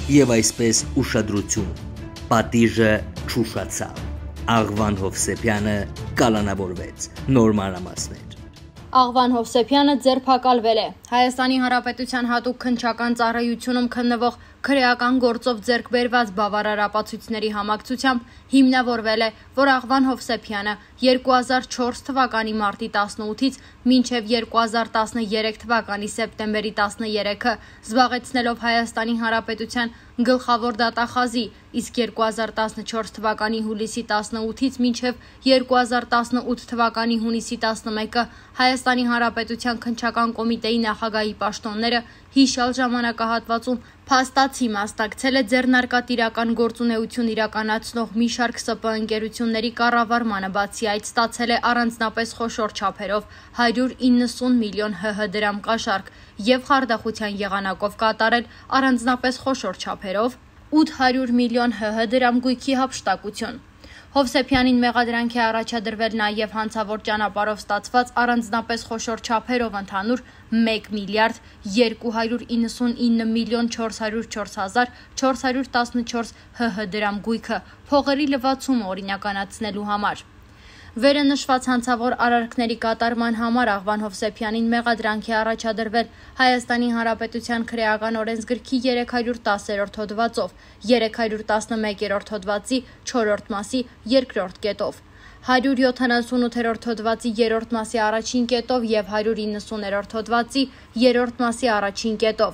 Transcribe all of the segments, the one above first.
եւ այսպես ուշադրություն, պատիժը չուշացավ, Աղվան Հովսեփյանը կալանավորվեց, նոր մանրամասներ։ Աղվան Հովսեփյանը ձերբակալվել է։ Հայաստանի Հանրապետության հատուկ քննչական ծառայությունում քննվող քրեական գործով ձեռք բերված բավարար ապացույցների համակցությամբ հիմնավորվել է, որ Աղվան Հովսեփյանը 2004 թվականի մարտի 18-ից մինչև 2013 թվականի սեպտեմբերի 13-ը զբաղեցնելով Հայաստանի Հանրապետության գլխավոր դատախազի, իսկ 2014 թվականի հուլիսի 18-ից մինչև 2018 թվականի հունիսի 11-ը Հայաստանի Հանրապետության քննչական կոմիտեի նախագահի պաշտոնները հիշյալ ժամանակահատվածում փաստացի մասնակցել է ձեռնարկատիրական գործունեություն իրականացնող մի շարք ՍՊ ընկերությունների կառավարմանը, բացի այդ ստացել է առանձնապես խոշոր չափերով 190 միլիոն ՀՀ դրամ կաշառք եւ խարդախության եղանակով կատարել առանձնապես խոշոր չափերով 800 միլիոն ՀՀ դրամ գույքի հափշտակություն։ Հովսեփյանին մեղադրանք է առաջադրվել նաև հանցավոր ճանապարհով ստացված առանձնապես խոշոր չափերով ընդհանուր 1 միլիարդ 299 միլիոն 404 հազար 414 ՀՀ դրամ գույքը փողերի լվացումը օրինականացնելու համար։ Վերը նշված հանցավոր արարքների կատարման համար Աղվան Հովսեփյանին մեղադրանք է առաջադրվել Հայաստանի Հանրապետության քրեական օրենսգրքի 310-րդ հոդվածով, 311-րդ հոդվածի 4-րդ մասի 2-րդ կետով, 178-րդ հոդվածի 3-րդ մասի առաջին կետով եւ 190-րդ հոդվածի 3-րդ մասի առաջին կետով։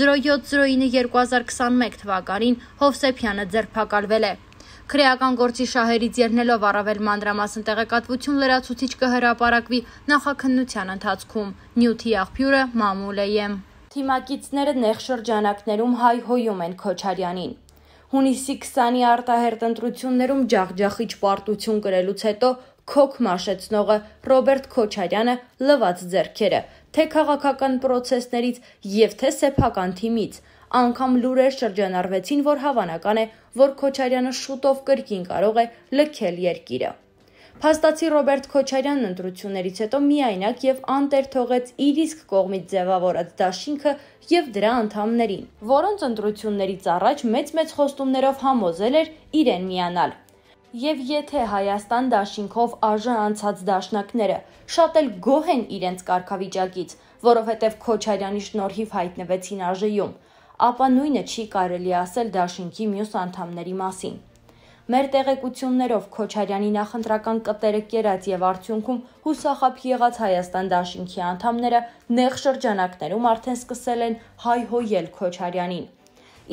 07/09/2021 թվականին Հովսեփյանը ձերբակալվել է։ Քրեական գործի շահերից ելնելով առավել մանրամասն տեղեկատվություն լրացուցիչ կհրապարակվի նախաքննության ընթացքում։ Նյութի աղբյուրը Մամուլ եմ։ Թիմակիցները նեղ շրջանակներում հայհոյում են Քոչարյանին։ Հունիսի 20-ի արտահերտ ընտրություններում ջախջախիչ պարտություն կրելուց հետո քոք մաշեցնողը Ռոբերտ Քոչարյանը լված ձեռքերը, թե քաղաքական պրոցեսներից եւ թե սեփական թիմից, անգամ լուրեր շրջանառվեցին, որ հավանական է, որ Քոչարյանը շուտով կրկին կարող է լքել երկիրը։ Փաստացի Ռոբերտ Քոչարյանն ընտրություններից հետո միայնակ եւ անտեր թողեց իր իսկ կողմից ձևավորած դաշինքը եւ դրա անդամներին, որոնց ընտրություններից առաջ մեծ խոստումներով համոզել էր իրեն միանալ։ Եվ եթե Հայաստան դաշինքով ԱԺ անցած դաշնակները շատ էլ գոհ են իրենց կարգավիճակից, որովհետև Քոչարյանի շնորհիվ հայտնվեցին ԱԺ-ում, ապա նույնը չի կարելի ասել դաշինքի մյուս անդամների մասին։ Մեր տեղեկություններով Քոչարյանի նախընտրական կտերը կերած եւ արդյունքում հուսախաբ եղած Հայաստան դաշինքի անդամները նեղ շրջանակներում արդեն սկսել են հայհոյել Քոչարյանին։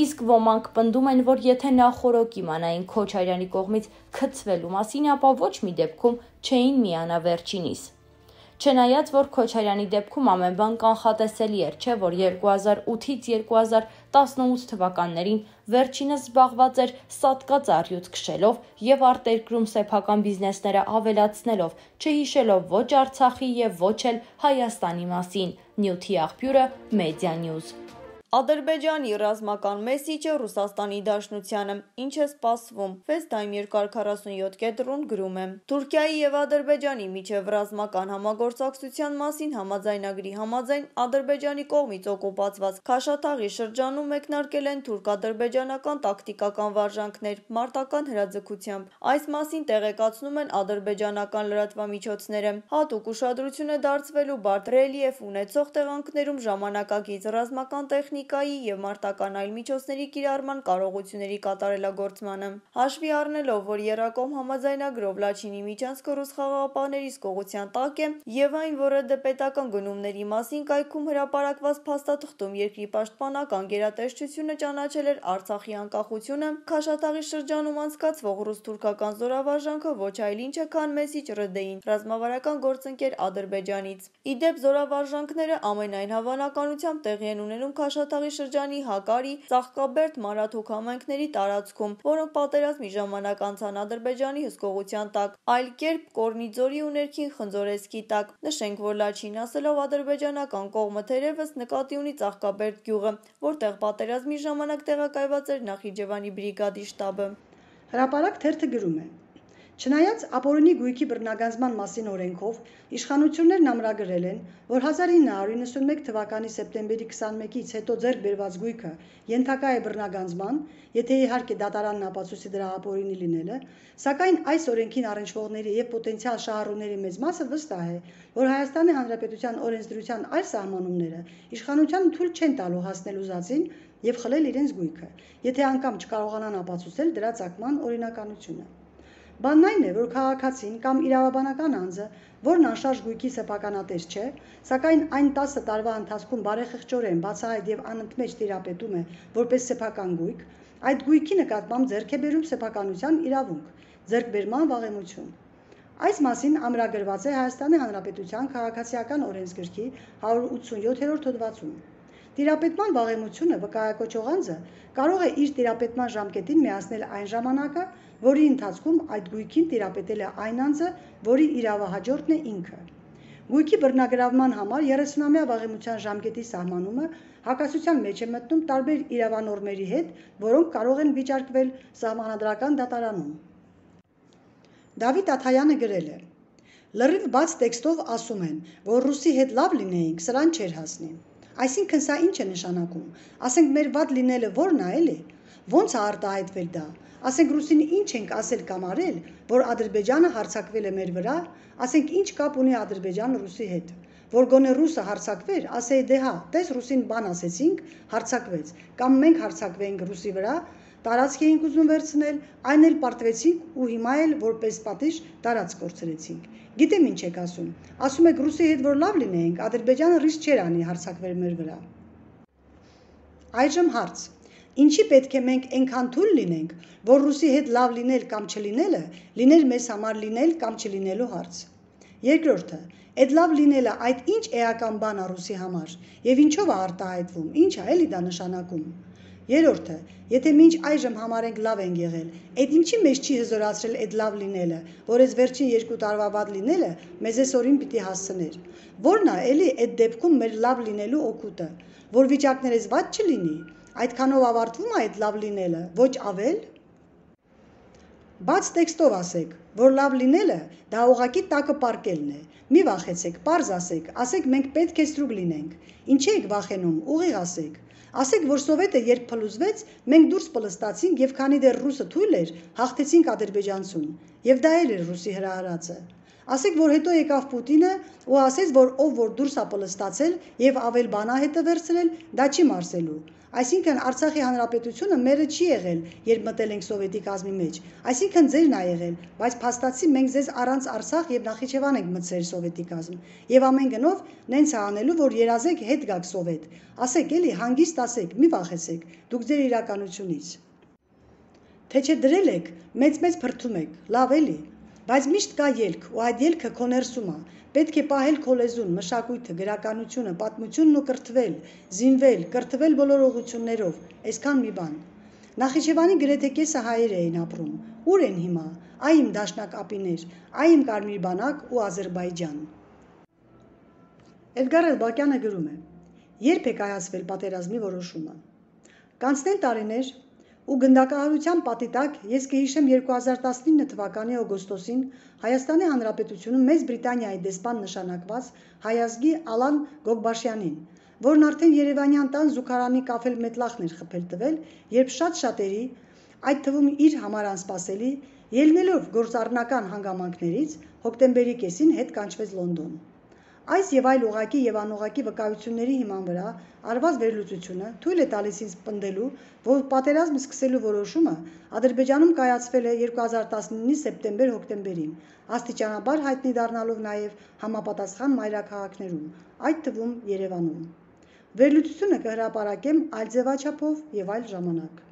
Իսկ ոմանք պնդում են, որ եթե նախորոք իմանային Քոչարյանի կողմից քցվելու մասին, ապա ոչ մի դեպքում չէին միանա վերջինիս։ Չնայած, որ Քոչարյանի դեպքում ամեն բան կանխատեսելի էր, չէ՞ որ 2008-ից 2018 թվականներին վերջինս զբաղված էր սատկած առյուծ քշելով եւ արտերկրում սեփական բիզնեսները ավելացնելով, չհիշելով ոչ Արցախի եւ ոչ էլ Հայաստանի մասին։ Նյութի աղբյուրը Media-News։ Ադրբեջանի ռազմական մեսիջը Ռուսաստանի Դաշնությանը, ինչ է սպասվում։ FaceTime 247 գրում է. Թուրքիայի եւ Ադրբեջանի միջև ռազմական համագործակցության մասին համաձայնագրի համաձայն Ադրբեջանի կողմից օկուպացված Քաշաթաղի շրջանում մեկնարկել են թուրք-ադրբեջանական տակտիկական վարժանքներ մարտական հրաձգությամբ։ Այս մասին տեղեկացնում են ադրբեջանական լրատվամիջոցները։ Հատուկ ուշադրություն է դարձվելու բարդ ռելիեֆ ունեցող տեղանքներում ժամանակակից ռազմական տեխնիկայի եւ մարտական այլ միջոցների կիրառման կարողությունների կատարելագործմանը։ Հաշվի առնելով, որ Եռակոմ համաձայնագրով Լաչինի միջանցքը ռուս խաղաղապահների սկողության տակ է եւ այն, որ ԴՊ պետական գնումների մասին կայքում հրապարակված փաստաթղթում երկրի պաշտպանական գերատեսչությունը ճանաչել էր Արցախի անկախությունը, Քաշաթաղի շրջանում անցկացվող ռուս-թուրքական զորավարժանքը ոչ այլ ինչ է, քան մեսիջ ՌԴ-ին, ռազմավարական գործընկեր Ադրբեջանից։ Իդեպ զորավարժանքները ամենայն հավանականությամբ տեղի են ունենում Քաշաթաղի շրջանի Հակարի, Ծաղկաբերդ, Մարաթուք համայնքների տարածքում, որոնք պատերազմի ժամանակ անցան Ադրբեջանի հսկողության տակ, այլ կերպ Կորնիձորի ու ներքին Խնձորեսկի տակ։ Նշենք, որ Լաչին ասելով ադրբեջանական կողմը թերևս նկատի ունի Ծաղկաբերդ գյուղը, որտեղ պատերազմի ժամանակ տեղակայված էր Նախիջևանի բրիգադի շտաբը։ Հրապարակ թերթը գրում է. Չնայած ապօրինի գույքի բռնագանձման մասին օրենքով իշխանություններն ամրագրել են, որ 1991 թվականի սեպտեմբերի 21-ից հետո ձեռք բերված գույքը ենթակա է բռնագանձման, եթե իհարկե դատարանն ապացույցի դրա ապօրինի լինելը, սակայն այս օրենքին առնչվողների եւ պոտենցիալ շահառուների մեծ մասը վստահ է, որ Հայաստանի Հանրապետության օրենսդրության այլ սահմանումները իշխանությանը թույլ չեն տալու հասնել ուզածին եւ խլել իրենց գույքը, եթե անգամ չկարողանան ապացուցել դրա ծագման օրինականությունը։ Բանն այն է, որ քաղաքացին կամ իրավաբանական անձը, որն անշարժ գույքի սեփականատես չէ, սակայն այն 10 տարվա ընթացքում բարեխղճորեն բացահայտ եւ անընդմեջ տիրապետում է որպես սեփական գույք, այդ գույքի նկատմամբ ձեռք է բերում սեփականության իրավունք, ձեռքբերման վաղեմություն։ Այս մասին ամրագրված է Հայաստանի Հանրապետության քաղաքացիական օրենսգրքի 187-րդ հոդվածում։ Տիրապետման վաղեմությունը վկայակոչող անձը կարող է իր տիրապետման ժամկետին միացնել այն ժամանակը, որի ընթացքում այդ գույքին տիրապետել է այն անձը, որի իրավահաջորդն է ինքը։ Գույքի բռնագրավման համար 30-ամյա վաղեմության ժամկետի սահմանումը հակասության մեջ է մտնում տարբեր իրավանորմերի հետ, որոնք կարող են վիճարկվել սահմանադրական դատարանում։ Դավիթ Աթայանը գրել է. լրիվ բաց տեքստով ասում են, որ ռուսի հետ լավ լինեինք, սրան չէր հասնի։ Այսինքն սա ինչ է նշանակում, ասենք մեր վատ լինելը որն է էլի, ոնց է արտահայտվել դա, ասենք ռուսին ինչ ենք ասել կամ արել, որ Ադրբեջանը հարձակվել է մեր վրա, ասենք ինչ կապ ունի Ադրբեջանը ռուսի հետ, որ գոնե ռուսը հարձակվեր, ասեի դե հա, տես ռուսին բան ասեցինք, հարձակվեց, կամ մենք հարձակվենք ռուսի վրա, տարածք էինք ուզում վերցնել, այն էլ պարտվեցինք ու հիմա էլ որպես պատիժ տարածք կորցրեցինք։ Գիտեմ ինչ եք ասում եք ռուսի հետ որ լավ լինեինք, Ադրբեջանը ռիսկ չէր անի հարձակվել մեր վրա։ Այժմ հարց. ինչի պետք է մենք այնքան թույլ լինենք, որ ռուսի հետ լավ լինել կամ չլինելը լիներ մեզ համար լինել կամ չլինելու հարց։ Երկրորդը, այդ լավ լինելը այդ ինչ էական բան է ռուսի համար եւ ինչով է արտահայտվում, ինչ է էլի դա նշանակում։ Երրորդը, եթե մինչ այժմ համարենք լավ են եղել, այդ ինչի մեզ չի հզորացրել այդ լավ լինելը, որ այս վերջին 2 տարվա վատ լինելը մեզ այսօրին պիտի հասցներ։ Որն է էլի այդ դեպքում մեր լավ լինելու օգուտը, որ վիճակներս վատ չլինի, այդքանով ավարտվում է այդ լավ լինելը, ոչ ավել։ Բաց տեքստով ասեք, որ լավ լինելը դա ուղղակի տակը պարկելն է։ Մի վախեցեք, պարզ ասեք մենք պետք է ստրուկ լինենք։ Ինչի եք վախենում, ուղիղ ասեք։ Ասեք, որ Սովետը երբ փլուզվեց, մենք դուրս պլստացինք եւ քանի դեռ ռուսը թույլ էր, հաղթեցինք ադրբեջանցուն։ Եվ դա էլ էր ռուսի հրահարածը։ Ասեք, որ հետո եկավ Պուտինը ու ասեց, որ ով որ դուրս է պլստացել եւ ավել բանահետը վերցրել, դա չի մարսելու։ Այսինքն Արցախի հանրապետությունը մերը չի եղել, երբ մտել ենք Սովետի կազմի մեջ։ Այսինքն ձերն ա եղել, բայց փաստացի մենք ձեզ առանց Արցախ եւ Նախիջևան ենք մտցրել Սովետի կազմ։ Եվ ամեն գնով նենց է անելու, որ երազեք հետ գաք Սովետ։ Ասեք էլի, հանգիստ ասեք, մի վախեցեք, դուք ձեր իրականությունից։ Թե չէ դրել եք, մեծ փրթում եք, լավ էլի, բայց միշտ կա ելք, ու այդ ելքը քո ներսում է։ Պետք է պահել քո լեզուն, մշակույթը, գրականությունը, պատմությունն ու կրթվել, զինվել, կրթվել բոլոր ուղղություններով, այսքան մի բան։ Նախիջևանի գրեթե կեսը հայեր էին ապրում։ Ուր են հիմա։ Այ իմ դաշնակ ապիներ, այ իմ կարմիր բանակ ու Ադրբեջան։ Էդգար Էլբակյանը գրում է. երբ է կայացվել պատերազմի որոշումը։ Կանցնեն տարիներ, ու գնդակահարության պատի տակ ես կհիշեմ 2019 թվականի օգոստոսին Հայաստանի Հանրապետությունում Մեծ Բրիտանիայի դեսպան նշանակված հայազգի Ալան Գոգբաշյանին, որն արդեն Երևանյան տան զուգարանի կաֆել մետլախն էր խփել տվել, երբ շատերի, այդ թվում իր համար անսպասելի, ելնելով գործառնական հանգամանքներից հոկտեմբերի կեսին հետ կանչվեց Լոնդոն։ Այս եւ այլ ուղղակի եւ անուղղակի վկայությունների հիման վրա արված վերլուծությունը թույլ է տալիս ինձ պնդելու, որ պատերազմ սկսելու որոշումը Ադրբեջանում կայացվել է 2019-ի սեպտեմբեր-հոկտեմբերին, աստիճանաբար հայտնի դառնալով նաեւ համապատասխան մայրաքաղաքներում, այդ թվում Երևանում։ Վերլուծությունը կհրապարակեմ այլ ձևաչափով եւ այլ ժամանակ։